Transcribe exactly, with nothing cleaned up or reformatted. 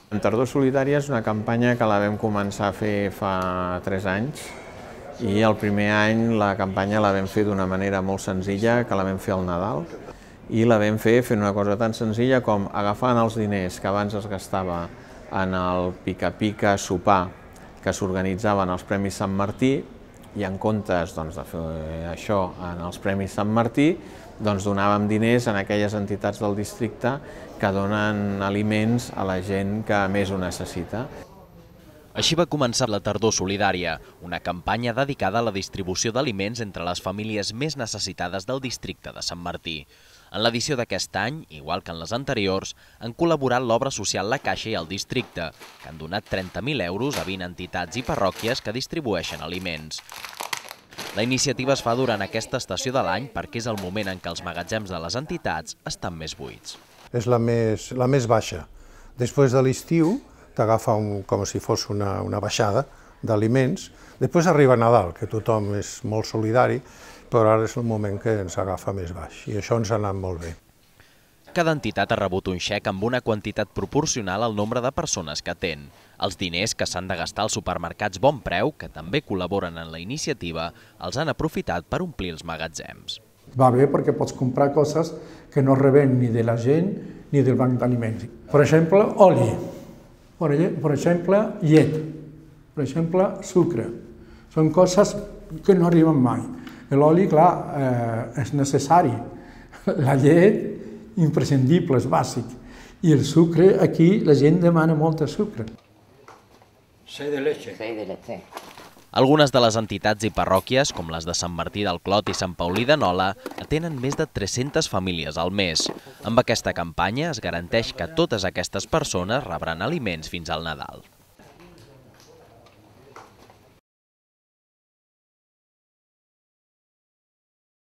En Tardor Solidària és una campanya que la vam començar a fer fa tres anys i el primer any la campanya la vam fer d'una manera molt senzilla, que la vam fer al Nadal, i la vam fer fent una cosa tan senzilla com agafant els diners que abans es gastava en el pica-pica sopar que s'organitzaven als Premis Sant Martí, i en comptes doncs, de fer això en els Premis Sant Martí, doncs donàvem diners a aquelles entitats del districte que donen aliments a la gent que més ho necessita. Així va començar la Tardor Solidària, una campanya dedicada a la distribució d'aliments entre les famílies més necessitades del districte de Sant Martí. En l'edició d'aquest any, igual que en les anteriors, han col·laborat l'Obra Social La Caixa i el districte, que han donat trenta mil euros a vint entitats i parròquies que distribueixen aliments. La iniciativa es fa durant aquesta estació de l'any perquè és el moment en què els magatzems de les entitats estan més buits. És la més, la més baixa. Després de l'estiu t'agafa com si fos una, una baixada d'aliments. Després arriba Nadal, que tothom és molt solidari, però ara és el moment que ens agafa més baix i això ens ha anat molt bé. Cada entitat ha rebut un xec amb una quantitat proporcional al nombre de persones que atén. Els diners que s'han de gastar als supermercats Bon Preu, que també col·laboren en la iniciativa, els han aprofitat per omplir els magatzems. Va bé perquè pots comprar coses que no reben ni de la gent ni del banc d'aliments. Per exemple, oli, per exemple, llet, per exemple, sucre. Són coses que no arriben mai. L'oli, clar, eh, és necessari. La llet, imprescindible, és bàsic. I el sucre, aquí la gent demana molt de sucre. Sei de leche. Sei de leche. Algunes de les entitats i parròquies, com les de Sant Martí del Clot i Sant Paulí de Nola, atenen més de tres-centes famílies al mes. Amb aquesta campanya es garanteix que totes aquestes persones rebran aliments fins al Nadal.